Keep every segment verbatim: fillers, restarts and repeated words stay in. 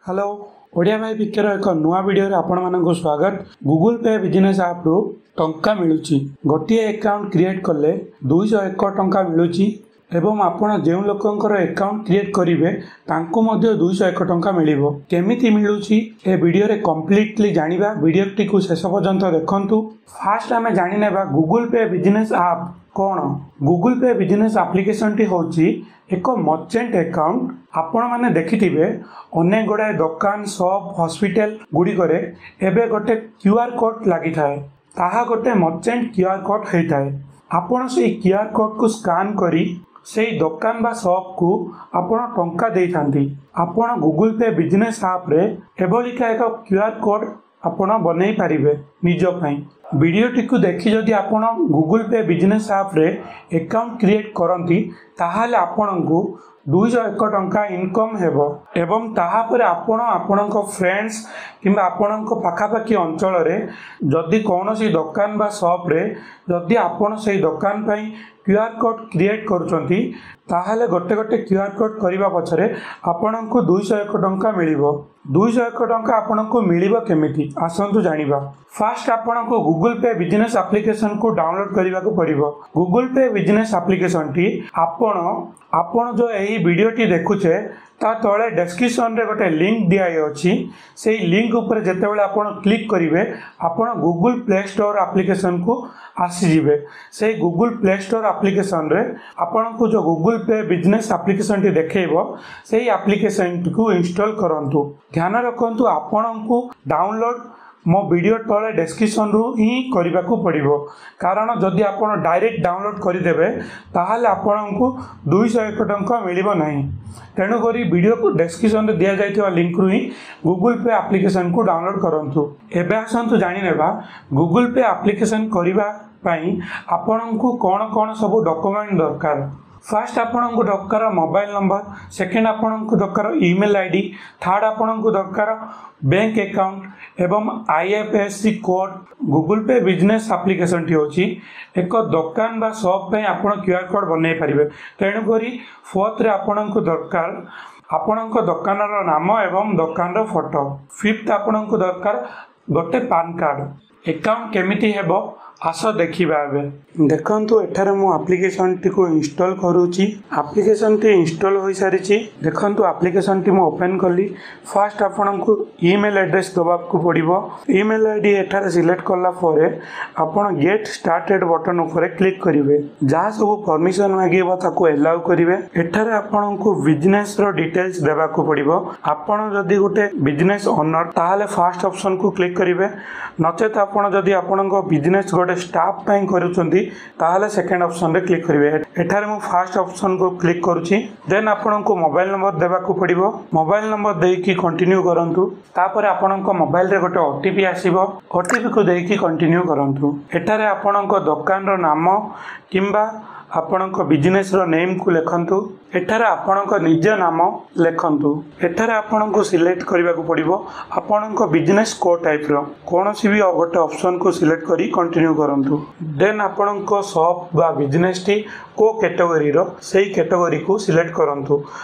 Hello Odia ଭାଇ ପିକେର ଏକ ନୂଆ ଭିଡ଼ିଓରେ ଆପଣମାନଙ୍କୁ ସ୍ୱାଗତ ଗୁଗୁଲ୍ ପେ ବିଜନେସ୍ ଆପ୍ରୁ ଟଙ୍କା ମିଳୁଛି ଗୋଟିଏ ଆକାଉଣ୍ଟ କ୍ରିଏଟ୍ କଲେ ଦୁଇଶହ ଏକ ଟଙ୍କା ମିଳୁଛି ଏବଂ ଆପଣ ଯେଉଁ ଲୋକଙ୍କର ଆକାଉଣ୍ଟ କ୍ରିଏଟ୍ କରିବେ ତାଙ୍କୁ ମଧ୍ୟ ଦୁଇଶହ ଏକ ଟଙ୍କା ମିଳିବ କେମିତି ମିଳୁଛି ଏ ଭିଡ଼ିଓରେ କମ୍ପ୍ଲିଟଲି ଜାଣିବା ଭିଡ଼ିଓଟିକୁ ଶେଷ ପର୍ଯ୍ୟନ୍ତ ଦେଖନ୍ତୁ ଫାଷ୍ଟ ଆମେ ଜାଣିନେବା ଗୁଗୁଲ୍ ପେ ବିଜନେସ୍ ଆପ୍ କ'ଣ ଗୁଗୁଲ୍ ପେ ବିଜନେସ୍ ଆପ୍ଲିକେସନଟି ହେଉଛି ଏକ ମର୍ଚେଣ୍ଟ ଆକାଉଣ୍ଟ ଆପଣମାନେ ଦେଖିଥିବେ ଅନେକ ଗୁଡ଼ାଏ ଦୋକାନ ସପ୍ ହସ୍ପିଟାଲ ଗୁଡ଼ିକରେ ଏବେ ଗୋଟେ କ୍ୟୁ ଆର୍ କୋଡ଼୍ ଲାଗିଥାଏ ତାହା ଗୋଟେ ମର୍ଚେଣ୍ଟ କ୍ୟୁ ଆର୍ କୋଡ଼୍ ହେଇଥାଏ ଆପଣ ସେଇ କ୍ୟୁ ଆର୍ କୋଡ଼୍କୁ ସ୍କାନ୍ କରି ସେଇ ଦୋକାନ ବା ସପ୍କୁ ଆପଣ ଟଙ୍କା ଦେଇଥାନ୍ତି ଆପଣ ଗୁଗୁଲ୍ ପେ ବିଜନେସ୍ ଆପ୍ରେ ଏଭଳିକା ଏକ କ୍ୟୁ ଆର୍ କୋଡ଼୍ ଆପଣ ବନେଇ ପାରିବେ ନିଜ ପାଇଁ ଭିଡ଼ିଓଟିକୁ ଦେଖି ଯଦି ଆପଣ ଗୁଗୁଲ୍ ପେ ବିଜନେସ୍ ଆପ୍ରେ ଆକାଉଣ୍ଟ କ୍ରିଏଟ୍ କରନ୍ତି ତାହେଲେ ଆପଣଙ୍କୁ ଦୁଇଶହ ଏକ ଟଙ୍କା ଇନକମ୍ ହେବ ଏବଂ ତାହାପରେ ଆପଣ ଆପଣଙ୍କ ଫ୍ରେଣ୍ଡସ୍ କିମ୍ବା ଆପଣଙ୍କ ପାଖାପାଖି ଅଞ୍ଚଳରେ ଯଦି କୌଣସି ଦୋକାନ ବା ସପ୍ରେ ଯଦି ଆପଣ ସେଇ ଦୋକାନ ପାଇଁ କ୍ୟୁ ଆର୍ କୋଡ଼୍ କ୍ରିଏଟ୍ କରୁଛନ୍ତି ତାହେଲେ ଗୋଟେ ଗୋଟେ କ୍ୟୁ ଆର୍ କୋଡ଼୍ କରିବା ପଛରେ ଆପଣଙ୍କୁ ଦୁଇଶହ ଏକ ଟଙ୍କା ମିଳିବ ଦୁଇଶହ ଏକ ଟଙ୍କା ଆପଣଙ୍କୁ ମିଳିବ କେମିତି ଆସନ୍ତୁ ଜାଣିବା ଫାଷ୍ଟ ଆପଣଙ୍କୁ ଗୁଗୁଲ୍ ପେ ବିଜନେସ୍ ଆପ୍ଲିକେସନକୁ ଡାଉନଲୋଡ୍ କରିବାକୁ ପଡ଼ିବ ଗୁଗୁଲ୍ ପେ ବିଜନେସ୍ ଆପ୍ଲିକେସନଟି ଆପଣ ଆପଣ ଯେଉଁ ଏହି ଭିଡ଼ିଓଟି ଦେଖୁଛେ ତା ତଳେ ଡେସ୍କ୍ରିପସନରେ ଗୋଟେ ଲିଙ୍କ ଦିଆହେଇଅଛି ସେଇ ଲିଙ୍କ ଉପରେ ଯେତେବେଳେ ଆପଣ କ୍ଲିକ୍ କରିବେ ଆପଣ ଗୁଗୁଲ୍ ପ୍ଲେ ଷ୍ଟୋର୍ ଆପ୍ଲିକେସନକୁ ଆସିଯିବେ ସେଇ ଗୁଗୁଲ୍ ପ୍ଲେ ଷ୍ଟୋର୍ ଆପ୍ଲିକେସନରେ ଆପଣଙ୍କୁ ଯେଉଁ ଗୁଗୁଲ୍ ପେ ବିଜନେସ୍ ଆପ୍ଲିକେସନଟି ଦେଖେଇବ ସେଇ ଆପ୍ଲିକେସନଟିକୁ ଇନଷ୍ଟଲ୍ କରନ୍ତୁ ଧ୍ୟାନ ରଖନ୍ତୁ ଆପଣଙ୍କୁ ଡାଉନଲୋଡ୍ ମୋ ଭିଡ଼ିଓ ତଳେ ଡେସ୍କ୍ରିପସନରୁ ହିଁ କରିବାକୁ ପଡ଼ିବ କାରଣ ଯଦି ଆପଣ ଡାଇରେକ୍ଟ ଡାଉନଲୋଡ୍ କରିଦେବେ ତାହେଲେ ଆପଣଙ୍କୁ ଦୁଇଶହ ଏକ ଟଙ୍କା ମିଳିବ ନାହିଁ ତେଣୁକରି ଭିଡ଼ିଓକୁ ଡେସ୍କ୍ରିପସନରେ ଦିଆଯାଇଥିବା ଲିଙ୍କରୁ ହିଁ ଗୁଗୁଲ୍ ପେ ଆପ୍ଲିକେସନକୁ ଡାଉନଲୋଡ୍ କରନ୍ତୁ ଏବେ ଆସନ୍ତୁ ଜାଣିନେବା ଗୁଗୁଲ୍ ପେ ଆପ୍ଲିକେସନ କରିବା ପାଇଁ ଆପଣଙ୍କୁ କ'ଣ କ'ଣ ସବୁ ଡକୁମେଣ୍ଟ ଦରକାର ଫାଷ୍ଟ ଆପଣଙ୍କୁ ଦରକାର ମୋବାଇଲ ନମ୍ବର ସେକେଣ୍ଡ ଆପଣଙ୍କୁ ଦରକାର ଇମେଲ୍ I D third ଆପଣଙ୍କୁ ଦରକାର ବ୍ୟାଙ୍କ ଆକାଉଣ୍ଟ ଏବଂ I F S C code Google pay business ଆପ୍ଲିକେସନଟି ହେଉଛି ଏକ ଦୋକାନ ବା ସପ୍ ପାଇଁ ଆପଣ କ୍ୟୁ ଆର୍ କୋଡ଼୍ ବନେଇ ପାରିବେ ତେଣୁକରି ଫୋର୍ଥରେ ଆପଣଙ୍କୁ ଦରକାର ଆପଣଙ୍କ ଦୋକାନର ନାମ ଏବଂ ଦୋକାନର ଫଟୋ ଫିଫ୍ଥ ଆପଣଙ୍କୁ ଦରକାର ଗୋଟେ ପାନ୍ କାର୍ଡ଼ ଆକାଉଣ୍ଟ କେମିତି ହେବ ଆସ ଦେଖିବା ଏବେ ଦେଖନ୍ତୁ ଏଠାରେ ମୁଁ ଆପ୍ଲିକେସନଟିକୁ ଇନଷ୍ଟଲ୍ କରୁଛି ଆପ୍ଲିକେସନଟି ଇନଷ୍ଟଲ୍ ହୋଇସାରିଛି ଦେଖନ୍ତୁ ଆପ୍ଲିକେସନଟି ମୁଁ ଓପେନ୍ କଲି ଫାଷ୍ଟ ଆପଣଙ୍କୁ ଇମେଲ୍ ଆଡ୍ରେସ୍ ଦେବାକୁ ପଡ଼ିବ ଇମେଲ୍ I D ଏଠାରେ ସିଲେକ୍ଟ କଲା ପରେ ଆପଣ ଗେଟ୍ ଷ୍ଟାର୍ଟେଡ୍ ବଟନ୍ ଉପରେ କ୍ଲିକ୍ କରିବେ ଯାହା ସବୁ ପରମିସନ୍ ମାଗିବ ତାକୁ ଏଲାଉ କରିବେ ଏଠାରେ ଆପଣଙ୍କୁ ବିଜନେସ୍ର ଡିଟେଲ୍ସ ଦେବାକୁ ପଡ଼ିବ ଆପଣ ଯଦି ଗୋଟେ ବିଜନେସ୍ ଓନର୍ ତାହେଲେ ଫାଷ୍ଟ ଅପସନ୍କୁ କ୍ଲିକ୍ କରିବେ ନଚେତ୍ ଆପଣ ଯଦି ଆପଣଙ୍କ ବିଜନେସ୍ ଗୋଟେ ଷ୍ଟାଫ୍ ପାଇଁ କରୁଛନ୍ତି ତାହେଲେ ସେକେଣ୍ଡ ଅପସନ୍ରେ କ୍ଲିକ୍ କରିବେ ଏଠାରେ ମୁଁ ଫାଷ୍ଟ ଅପସନ୍କୁ କ୍ଲିକ୍ କରୁଛି ଦେନ୍ ଆପଣଙ୍କୁ ମୋବାଇଲ ନମ୍ବର ଦେବାକୁ ପଡ଼ିବ ମୋବାଇଲ ନମ୍ବର ଦେଇକି କଣ୍ଟିନ୍ୟୁ କରନ୍ତୁ ତାପରେ ଆପଣଙ୍କ ମୋବାଇଲରେ ଗୋଟେ ଓ ଟି ପି ଆସିବ ଓ ଟି ପିକୁ ଦେଇକି କଣ୍ଟିନ୍ୟୁ କରନ୍ତୁ ଏଠାରେ ଆପଣଙ୍କ ଦୋକାନର ନାମ କିମ୍ବା ଆପଣଙ୍କ ବିଜନେସ୍ର ନେମ୍କୁ ଲେଖନ୍ତୁ ଏଠାରେ ଆପଣଙ୍କ ନିଜ ନାମ ଲେଖନ୍ତୁ ଏଠାରେ ଆପଣଙ୍କୁ ସିଲେକ୍ଟ କରିବାକୁ ପଡ଼ିବ ଆପଣଙ୍କ ବିଜନେସ୍ କୋଉ ଟାଇପ୍ର କୌଣସି ବି ଗୋଟେ ଅପସନ୍କୁ ସିଲେକ୍ଟ କରି କଣ୍ଟିନ୍ୟୁ କରନ୍ତୁ ଦେନ୍ ଆପଣଙ୍କ ସପ୍ ବା ବିଜନେସ୍ଟି କେଉଁ କ୍ୟାଟେଗୋରୀର ସେଇ କ୍ୟାଟେଗୋରୀକୁ ସିଲେକ୍ଟ କରନ୍ତୁ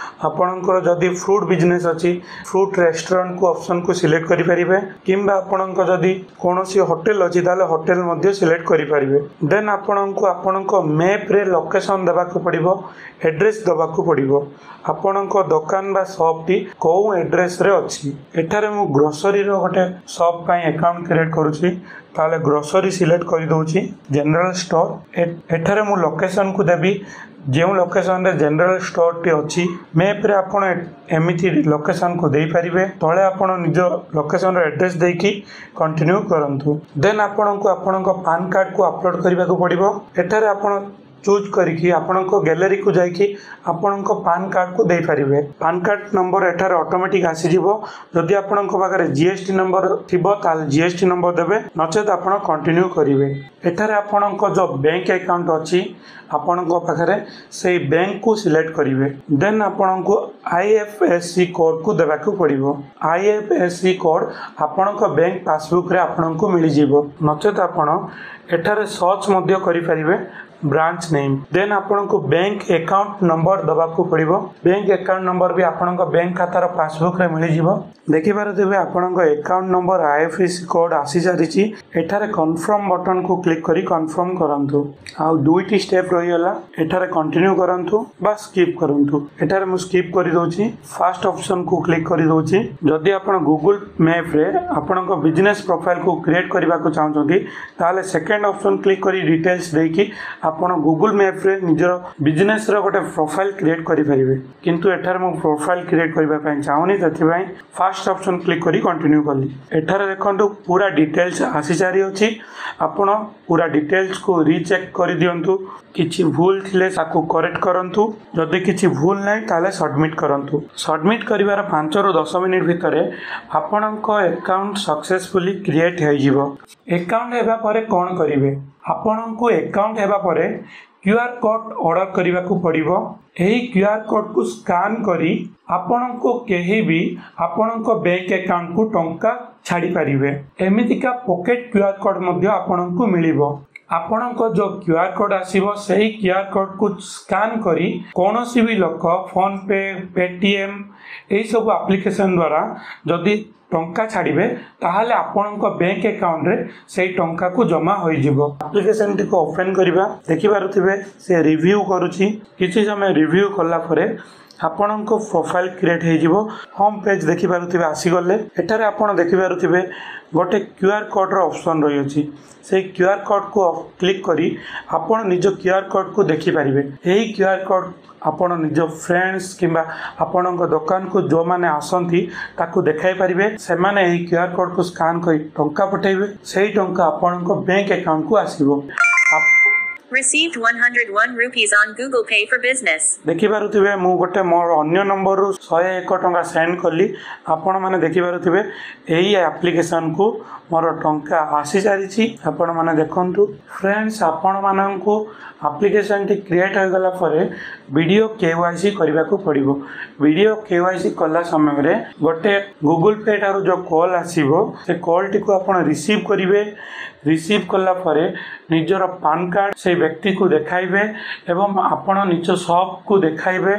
ଆପଣଙ୍କର ଯଦି ଫ୍ରୁଟ୍ ବିଜନେସ୍ ଅଛି ଫ୍ରୁଟ୍ ରେଷ୍ଟୁରାଣ୍ଟକୁ ଅପସନ୍କୁ ସିଲେକ୍ଟ କରିପାରିବେ କିମ୍ବା ଆପଣଙ୍କ ଯଦି କୌଣସି ହୋଟେଲ ଅଛି ତାହେଲେ ହୋଟେଲ ମଧ୍ୟ ସିଲେକ୍ଟ କରିପାରିବେ ଦେନ୍ ଆପଣଙ୍କୁ ଆପଣଙ୍କ ମ୍ୟାପ୍ରେ ଲୋକେସନ୍ ଦେବାକୁ ପଡ଼ିବ ଆଡ୍ରେସ୍ ଦେବାକୁ ପଡ଼ିବ ଆପଣଙ୍କ ଦୋକାନ ବା ସପ୍ଟି କେଉଁ ଆଡ୍ରେସ୍ରେ ଅଛି ଏଠାରେ ମୁଁ ଗ୍ରୋସରୀର ଗୋଟେ ସପ୍ ପାଇଁ ଆକାଉଣ୍ଟ କ୍ରିଏଟ୍ କରୁଛି ତାହେଲେ ଗ୍ରୋସରୀ ସିଲେକ୍ଟ କରିଦେଉଛି ଜେନେରାଲ ଷ୍ଟୋର୍ ଏଠାରେ ମୁଁ ଲୋକେସନ୍କୁ ଦେବି ଯେଉଁ ଲୋକେସନରେ ଜେନେରାଲ ଷ୍ଟୋରଟି ଅଛି ମ୍ୟାପ୍ରେ ଆପଣ ଏମିତି ଲୋକେସନ୍କୁ ଦେଇପାରିବେ ତଳେ ଆପଣ ନିଜ ଲୋକେସନର ଆଡ୍ରେସ୍ ଦେଇକି କଣ୍ଟିନ୍ୟୁ କରନ୍ତୁ ଦେନ୍ ଆପଣଙ୍କୁ ଆପଣଙ୍କ ପାନ୍ କାର୍ଡ଼କୁ ଅପଲୋଡ଼ କରିବାକୁ ପଡ଼ିବ ଏଠାରେ ଆପଣ ଚୁଜ୍ କରିକି ଆପଣଙ୍କ ଗ୍ୟାଲେରୀକୁ ଯାଇକି ଆପଣଙ୍କ ପାନ୍ କାର୍ଡ଼କୁ ଦେଇପାରିବେ ପାନ୍ କାର୍ଡ଼ ନମ୍ବର ଏଠାରେ ଅଟୋମେଟିକ୍ ଆସିଯିବ ଯଦି ଆପଣଙ୍କ ପାଖରେ ଜି ଏସ୍ ଟି ନମ୍ବର ଥିବ ତାହେଲେ ଜି ଏସ୍ ଟି ନମ୍ବର ଦେବେ ନଚେତ୍ ଆପଣ କଣ୍ଟିନ୍ୟୁ କରିବେ ଏଠାରେ ଆପଣଙ୍କ ଯେଉଁ ବ୍ୟାଙ୍କ ଆକାଉଣ୍ଟ ଅଛି ଆପଣଙ୍କ ପାଖରେ ସେଇ ବ୍ୟାଙ୍କକୁ ସିଲେକ୍ଟ କରିବେ ଦେନ୍ ଆପଣଙ୍କୁ I F S C କୋଡ଼୍କୁ ଦେବାକୁ ପଡ଼ିବ I F S C code ଆପଣଙ୍କ ବ୍ୟାଙ୍କ ପାସବୁକ୍ରେ ଆପଣଙ୍କୁ ମିଳିଯିବ ନଚେତ୍ ଆପଣ ଏଠାରେ ସର୍ଚ୍ଚ ମଧ୍ୟ କରିପାରିବେ ବ୍ରାଞ୍ଚ ନେମ୍। ଦେନ୍ ଆପଣଙ୍କୁ ବ୍ୟାଙ୍କ ଆକାଉଣ୍ଟ ନମ୍ବର ଦେବାକୁ ପଡ଼ିବ। ବ୍ୟାଙ୍କ ଆକାଉଣ୍ଟ ନମ୍ବର ବି ଆପଣଙ୍କ ବ୍ୟାଙ୍କ ଖାତାର ପାସବୁକ୍ରେ ମିଳିଯିବ। ଦେଖିପାରୁଥିବେ, ଆପଣଙ୍କ account number, I F S C code ଆସିସାରିଛି। ଏଠାରେ କନଫର୍ମ ବଟନକୁ କ୍ଲିକ୍ କରି କନଫର୍ମ କରନ୍ତୁ। ଆଉ ଦୁଇଟି ଷ୍ଟେପ୍ ରହିଗଲା। ଏଠାରେ କଣ୍ଟିନ୍ୟୁ କରନ୍ତୁ ବା ସ୍କିପ୍ କରନ୍ତୁ। ଏଠାରେ ମୁଁ ସ୍କିପ୍ କରିଦେଉଛି, ଫାଷ୍ଟ ଅପସନକୁ କ୍ଲିକ୍ କରିଦେଉଛି। ଯଦି ଆପଣ ଗୁଗୁଲ ମ୍ୟାପ୍ରେ ଆପଣଙ୍କ ବିଜନେସ୍ ପ୍ରୋଫାଇଲକୁ କ୍ରିଏଟ୍ କରିବାକୁ ଚାହୁଁଛନ୍ତି, ତାହେଲେ ସେକେଣ୍ଡ ଅପସନ୍ କ୍ଲିକ୍ କରି ଡିଟେଲ୍ସ ଦେଇକି ଆପଣ ଗୁଗୁଲ ମ୍ୟାପ୍ରେ ନିଜର ବିଜନେସ୍ର ଗୋଟେ ପ୍ରୋଫାଇଲ୍ କ୍ରିଏଟ୍ କରିପାରିବେ। କିନ୍ତୁ ଏଠାରେ ମୁଁ ପ୍ରୋଫାଇଲ୍ କ୍ରିଏଟ୍ କରିବା ପାଇଁ ଚାହୁଁନି, ସେଥିପାଇଁ ଫାଷ୍ଟ ଅପସନ୍ କ୍ଲିକ୍ କରି କଣ୍ଟିନ୍ୟୁ କଲି। ଏଠାରେ ଦେଖନ୍ତୁ, ପୁରା ଡିଟେଲ୍ସ ଆସିସାରିଅଛି। ଆପଣ ପୁରା ଡିଟେଲ୍ସକୁ ରିଚେକ୍ କରିଦିଅନ୍ତୁ। କିଛି ଭୁଲ ଥିଲେ ତାକୁ କରେକ୍ଟ କରନ୍ତୁ। ଯଦି କିଛି ଭୁଲ ନାହିଁ, ତାହେଲେ ସବମିଟ୍ କରନ୍ତୁ। ସବମିଟ୍ କରିବାର ପାଞ୍ଚରୁ ଦଶ ମିନିଟ୍ ଭିତରେ ଆପଣଙ୍କ ଆକାଉଣ୍ଟ ସକ୍ସେସଫୁଲି କ୍ରିଏଟ୍ ହୋଇଯିବ। ଆକାଉଣ୍ଟ ହେବା ପରେ କ'ଣ କରିବେ? ଆପଣଙ୍କୁ ଆକାଉଣ୍ଟ ହେବା ପରେ କ୍ୟୁ ଆର୍ କୋଡ଼୍ ଅର୍ଡ଼ର କରିବାକୁ ପଡ଼ିବ। ଏହି କ୍ୟୁ ଆର୍ କୋଡ଼୍କୁ ସ୍କାନ୍ କରି ଆପଣଙ୍କୁ କେହି ବି ଆପଣଙ୍କ ବ୍ୟାଙ୍କ ଆକାଉଣ୍ଟକୁ ଟଙ୍କା ଛାଡ଼ିପାରିବେ। ଏମିତିକା ପକେଟ୍ କ୍ୟୁ ଆର୍ କୋଡ଼୍ ମଧ୍ୟ ଆପଣଙ୍କୁ ମିଳିବ। ଆପଣଙ୍କ ଯେଉଁ କ୍ୟୁ ଆର୍ କୋଡ଼୍ ଆସିବ, ସେହି କ୍ୟୁ ଆର୍ କୋଡ଼୍କୁ ସ୍କାନ୍ କରି କୌଣସି ବି ଲୋକ ଫୋନ୍ପେ, ପେଟିଏମ୍ ଏହିସବୁ ଆପ୍ଲିକେସନ୍ ଦ୍ୱାରା ଯଦି ଟଙ୍କା ଛାଡ଼ିବେ, ତାହେଲେ ଆପଣଙ୍କ ବ୍ୟାଙ୍କ ଆକାଉଣ୍ଟରେ ସେଇ ଟଙ୍କାକୁ ଜମା ହୋଇଯିବ। ଆପ୍ଲିକେସନଟିକୁ ଓପେନ୍ କରିବା। ଦେଖିପାରୁଥିବେ, ସେ ରିଭ୍ୟୁ କରୁଛି। କିଛି ସମୟ ରିଭ୍ୟୁ କଲା ପରେ ଆପଣଙ୍କ ପ୍ରୋଫାଇଲ୍ କ୍ରିଏଟ୍ ହେଇଯିବ। ହୋମ୍ ପେଜ୍ ଦେଖିପାରୁଥିବେ, ଆସିଗଲେ। ଏଠାରେ ଆପଣ ଦେଖିପାରୁଥିବେ, ଗୋଟେ କ୍ୟୁ ଆର୍ କୋଡ଼୍ର ଅପସନ୍ ରହିଅଛି। ସେଇ କ୍ୟୁ ଆର୍ କୋଡ଼୍କୁ କ୍ଲିକ୍ କରି ଆପଣ ନିଜ କ୍ୟୁ ଆର୍ କୋଡ଼୍କୁ ଦେଖିପାରିବେ। ଏହି କ୍ୟୁ ଆର୍ କୋଡ଼୍ ଆପଣ ନିଜ ଫ୍ରେଣ୍ଡସ୍ କିମ୍ବା ଆପଣଙ୍କ ଦୋକାନକୁ ଯେଉଁମାନେ ଆସନ୍ତି, ତାକୁ ଦେଖାଇ ପାରିବେ। ସେମାନେ ଏହି କ୍ୟୁ ଆର୍ କୋଡ଼୍କୁ ସ୍କାନ୍ କରି ଟଙ୍କା ପଠାଇବେ। ସେଇ ଟଙ୍କା ଆପଣଙ୍କ ବ୍ୟାଙ୍କ ଆକାଉଣ୍ଟକୁ ଆସିବ। Received one hundred one rupees on Google Pay for Business. ଦେଖିପାରୁଥିବେ, ମୁଁ ଗୋଟେ ମୋର ଅନ୍ୟ ନମ୍ବରରୁ ଶହେ ଏକ ଟଙ୍କା ସେଣ୍ଡ କଲି। ଆପଣମାନେ ଦେଖିପାରୁଥିବେ, ଏହି ଆପ୍ଲିକେସନକୁ ମୋର ଟଙ୍କା ଆସିସାରିଛି। ଆପଣମାନେ ଦେଖନ୍ତୁ ଫ୍ରେଣ୍ଡସ୍, ଆପଣମାନଙ୍କୁ ଆପ୍ଲିକେସନଟି କ୍ରିଏଟ୍ ହୋଇଗଲା ପରେ ଭିଡ଼ିଓ କେ ୱାଇ ସି କରିବାକୁ ପଡ଼ିବ। ଭିଡ଼ିଓ କେ ୱାଇ ସି କଲା ସମୟରେ ଗୋଟେ ଗୁଗୁଲ ପେ ଠାରୁ ଯେଉଁ କଲ୍ ଆସିବ, ସେ କଲ୍ଟିକୁ ଆପଣ ରିସିଭ୍ କରିବେ। ରିସିଭ୍ କଲା ପରେ ନିଜର ପାନ୍ କାର୍ଡ଼ ସେଇ ବ୍ୟକ୍ତିକୁ ଦେଖାଇବେ ଏବଂ ଆପଣ ନିଜ ସପ୍କୁ ଦେଖାଇବେ,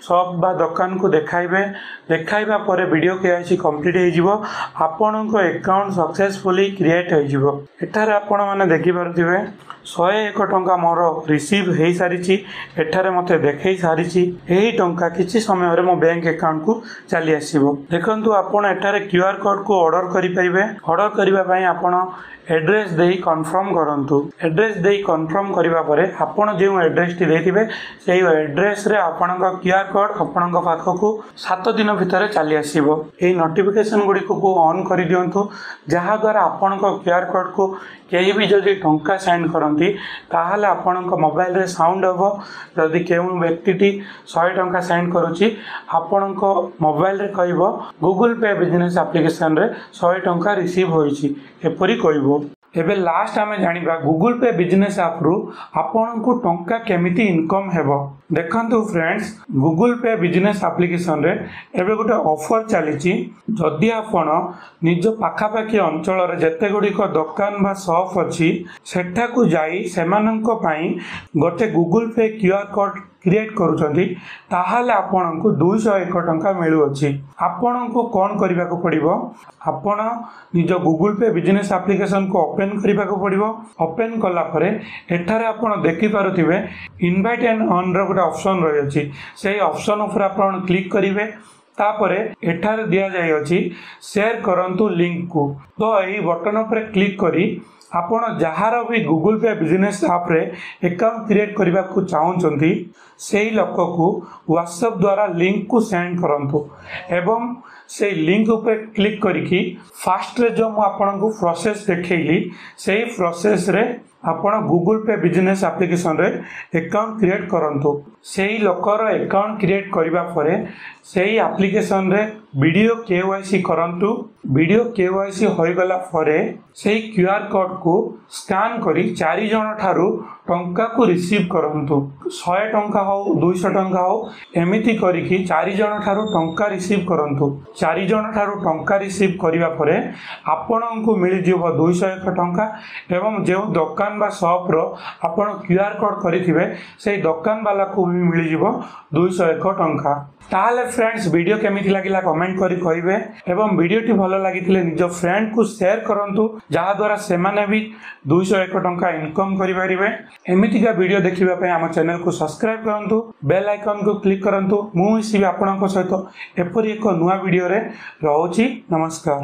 ସପ୍ ବା ଦୋକାନକୁ ଦେଖାଇବେ। ଦେଖାଇବା ପରେ video K Y C complete ହେଇଯିବ। ଆପଣଙ୍କ ଆକାଉଣ୍ଟ ସକ୍ସେସଫୁଲି କ୍ରିଏଟ୍ ହୋଇଯିବ। ଏଠାରେ ଆପଣମାନେ ଦେଖିପାରୁଥିବେ, ଶହେ ଏକ ଟଙ୍କା ମୋର ରିସିଭ୍ ହେଇସାରିଛି। ଏଠାରେ ମୋତେ ଦେଖେଇ ସାରିଛି। ଏହି ଟଙ୍କା କିଛି ସମୟରେ ମୋ ବ୍ୟାଙ୍କ ଆକାଉଣ୍ଟକୁ ଚାଲି ଆସିବ। ଦେଖନ୍ତୁ, ଆପଣ ଏଠାରେ କ୍ୟୁ ଆର୍ କୋଡ଼୍କୁ ଅର୍ଡ଼ର କରିପାରିବେ। ଅର୍ଡ଼ର କରିବା ପାଇଁ ଆପଣ ଆଡ୍ରେସ୍ ଦେଇ କନଫର୍ମ କରନ୍ତୁ। ଆଡ୍ରେସ୍ ଦେଇ କନଫର୍ମ କରିବା ପରେ ଆପଣ ଯେଉଁ ଆଡ୍ରେସ୍ଟି ଦେଇଥିବେ, ସେଇ ଆଡ୍ରେସ୍ରେ ଆପଣଙ୍କ କ୍ୟୁ ଆର୍ କୋଡ଼୍ ଆପଣଙ୍କ ପାଖକୁ ସାତ ଦିନ ଭିତରେ ଚାଲି ଆସିବ। ଏହି ନୋଟିଫିକେସନ୍ ଗୁଡ଼ିକୁ ଅନ୍ କରିଦିଅନ୍ତୁ, ଯାହାଦ୍ୱାରା ଆପଣଙ୍କ କ୍ୟୁ ଆର୍ କୋଡ଼୍କୁ କେହି ବି ଯଦି ଟଙ୍କା ସେଣ୍ଡ କରନ୍ତି, ତାହେଲେ ଆପଣଙ୍କ ମୋବାଇଲରେ ସାଉଣ୍ଡ ହେବ। ଯଦି କେଉଁ ବ୍ୟକ୍ତିଟି ଶହେ ଟଙ୍କା ସେଣ୍ଡ କରୁଛି, ଆପଣଙ୍କ ମୋବାଇଲରେ କହିବ, ଗୁଗୁଲ ପେ ବିଜନେସ୍ ଆପ୍ଲିକେସନରେ ଶହେ ଟଙ୍କା ରିସିଭ୍ ହୋଇଛି, ଏପରି କହିବ। ଏବେ ଲାଷ୍ଟ ଆମେ ଜାଣିବା, ଗୁଗୁଲ ପେ ବିଜନେସ୍ ଆପ୍ରୁ ଆପଣଙ୍କୁ ଟଙ୍କା କେମିତି ଇନକମ୍ ହେବ। ଦେଖନ୍ତୁ ଫ୍ରେଣ୍ଡସ୍, ଗୁଗୁଲ ପେ ବିଜନେସ୍ ଆପ୍ଲିକେସନରେ ଏବେ ଗୋଟେ ଅଫର୍ ଚାଲିଛି। ଯଦି ଆପଣ ନିଜ ପାଖାପାଖି ଅଞ୍ଚଳରେ ଯେତେ ଗୁଡ଼ିକ ଦୋକାନ ବା ସପ୍ ଅଛି, ସେଠାକୁ ଯାଇ ସେମାନଙ୍କ ପାଇଁ ଗୋଟେ Google pay Q R code create କରୁଛନ୍ତି, ତାହେଲେ ଆପଣଙ୍କୁ ଦୁଇଶହ ଏକ ଟଙ୍କା ମିଳୁଅଛି। ଆପଣଙ୍କୁ କ'ଣ କରିବାକୁ ପଡ଼ିବ? ଆପଣ ନିଜ ଗୁଗୁଲ ପେ ବିଜନେସ୍ ଆପ୍ଲିକେସନକୁ ଓପେନ୍ କରିବାକୁ ପଡ଼ିବ। ଓପେନ୍ କଲା ପରେ ଏଠାରେ ଆପଣ ଦେଖିପାରୁଥିବେ, ଇନଭାଇଟ୍ ଆଣ୍ଡ ଅର୍ନର ଗୋଟେ ଅପସନ୍ ରହିଅଛି। ସେଇ ଅପସନ୍ ଉପରେ ଆପଣ କ୍ଲିକ୍ କରିବେ। ତାପରେ ଏଠାରେ ଦିଆଯାଇଅଛି, ସେୟାର କରନ୍ତୁ ଲିଙ୍କକୁ। ତ ଏହି ବଟନ୍ ଉପରେ କ୍ଲିକ୍ କରି ଆପଣ ଯାହାର ବି ଗୁଗୁଲ ପେ ବିଜନେସ୍ ଆପ୍ରେ ଆକାଉଣ୍ଟ କ୍ରିଏଟ୍ କରିବାକୁ ଚାହୁଁଛନ୍ତି, ସେଇ ଲୋକକୁ ହ୍ୱାଟ୍ସଆପ୍ ଦ୍ୱାରା ଲିଙ୍କକୁ ସେଣ୍ଡ କରନ୍ତୁ ଏବଂ ସେଇ ଲିଙ୍କ ଉପରେ କ୍ଲିକ୍ କରିକି ଫାଷ୍ଟରେ ଯେଉଁ ମୁଁ ଆପଣଙ୍କୁ ପ୍ରୋସେସ୍ ଦେଖେଇଲି, ସେଇ ପ୍ରୋସେସ୍ରେ ଆପଣ ଗୁଗୁଲ ପେ ବିଜନେସ୍ ଆପ୍ଲିକେସନରେ ଆକାଉଣ୍ଟ କ୍ରିଏଟ୍ କରନ୍ତୁ। ସେଇ ଲୋକର ଆକାଉଣ୍ଟ କ୍ରିଏଟ୍ କରିବା ପରେ ସେଇ ଆପ୍ଲିକେସନରେ ଭିଡ଼ିଓ କେ ୱାଇ ସି କରନ୍ତୁ। ଭିଡ଼ିଓ କେ ୱାଇ ସି ହୋଇଗଲା ପରେ ସେଇ କ୍ୟୁ ଆର୍ କୋଡ଼୍କୁ ସ୍କାନ୍ କରି ଚାରି ଜଣ ଠାରୁ ଟଙ୍କାକୁ ରିସିଭ୍ କରନ୍ତୁ। ଶହେ ଟଙ୍କା ହଉ ଦୁଇଶହ ଟଙ୍କା ହଉ ଏମିତି କରିକି ଚାରିଜଣ ଠାରୁ ଟଙ୍କା ରିସିଭ୍ କରନ୍ତୁ ଚାରିଜଣ ଠାରୁ ଟଙ୍କା ରିସିଭ୍ କରିବା ପରେ ଆପଣଙ୍କୁ ମିଳିଯିବ ଦୁଇଶହ ଏକ ଟଙ୍କା ଏବଂ ଯେଉଁ ଦୋକାନ ବା ସପ୍ର ଆପଣ କ୍ୟୁ ଆର୍ କୋଡ଼୍ କରିଥିବେ ସେଇ ଦୋକାନବାଲାକୁ ବି ମିଳିଯିବ ଦୁଇଶହ ଏକ ଟଙ୍କା ତାହେଲେ ଫ୍ରେଣ୍ଡସ୍ ଭିଡ଼ିଓ କେମିତି ଲାଗିଲା କମେଣ୍ଟ କରି କହିବେ ଏବଂ ଭିଡ଼ିଓଟି ଭଲ ଲାଗିଥିଲେ ନିଜ ଫ୍ରେଣ୍ଡକୁ ସେୟାର କରନ୍ତୁ ଯାହାଦ୍ୱାରା ସେମାନେ ବି ଦୁଇଶହ ଏକ ଟଙ୍କା ଇନକମ୍ କରିପାରିବେ ଏମିତିକା ଭିଡ଼ିଓ ଦେଖିବା ପାଇଁ ଆମ ଚ୍ୟାନେଲକୁ ସବସ୍କ୍ରାଇବ୍ କରନ୍ତୁ ବେଲ୍ ଆଇକନ୍କୁ କ୍ଲିକ୍ କରନ୍ତୁ ମୁଁ ମିଶିବି ଆପଣଙ୍କ ସହିତ ଏପରି ଏକ ନୂଆ ଭିଡ଼ିଓରେ ରହୁଛି ନମସ୍କାର